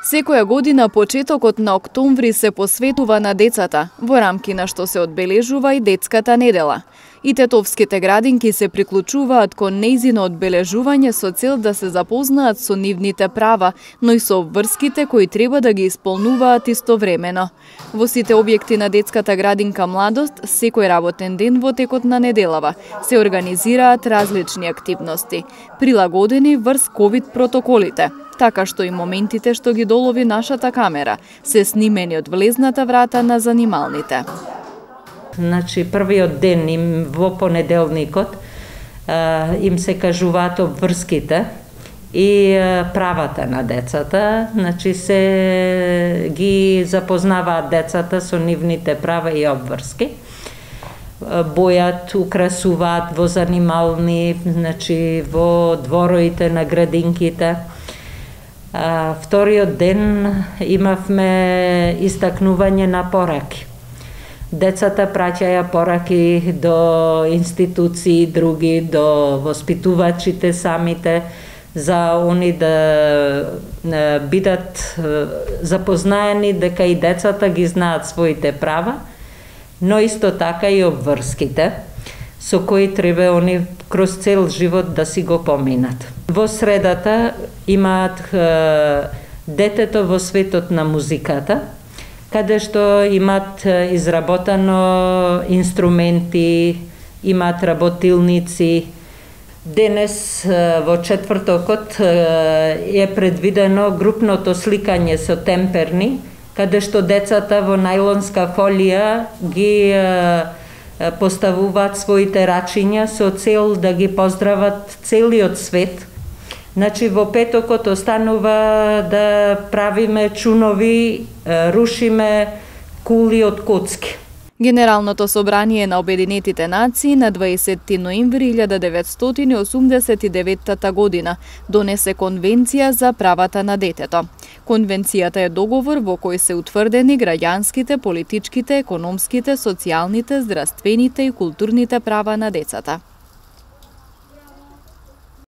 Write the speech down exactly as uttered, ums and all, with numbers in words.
Секоја година почетокот на октомври се посветува на децата, во рамки на што се одбележува и детската недела. И тетовските градинки се приклучуваат кон нејзино одбележување со цел да се запознаат со нивните права, но и со обврските кои треба да ги исполнуваат истовремено. Во сите објекти на детската градинка Младост, секој работен ден во текот на неделава, се организираат различни активности, прилагодени врз ковид протоколите, така што и моментите што ги долови нашата камера се снимени од влезната врата на занималните. Значи, првиот ден им во понеделникот а, им се кажуваат обврските и а, правата на децата. Значи, се ги запознаваат децата со нивните права и обврски. Бојат, украсуваат во занимални, значи, во двороите на градинките. А, вториот ден имавме истакнување на пораки. Децата праќаја пораки до институции, други, до воспитувачите самите, за они да бидат запознаени дека и децата ги знаат своите права, но исто така и обврските, со кои треба они кроз цел живот да си го поминат. Во средата имаат детето во светот на музиката, каде што имат изработено инструменти, имат работилници. Денес во четвртокот е предвидено групното сликање со темперни, каде што децата во најлонска фолија ги поставуваат своите рачиња со цел да ги поздрават целиот свет. Значи, во петокот останува да правиме чунови, рушиме кули од коцки. Генералното собрание на Обединетите нации на дваесетти ноември илјада деветстотини осумдесет и деветта година донесе Конвенција за правата на детето. Конвенцијата е договор во кој се утврдени граѓанските, политичките, економските, социјалните, здравствените и културните права на децата.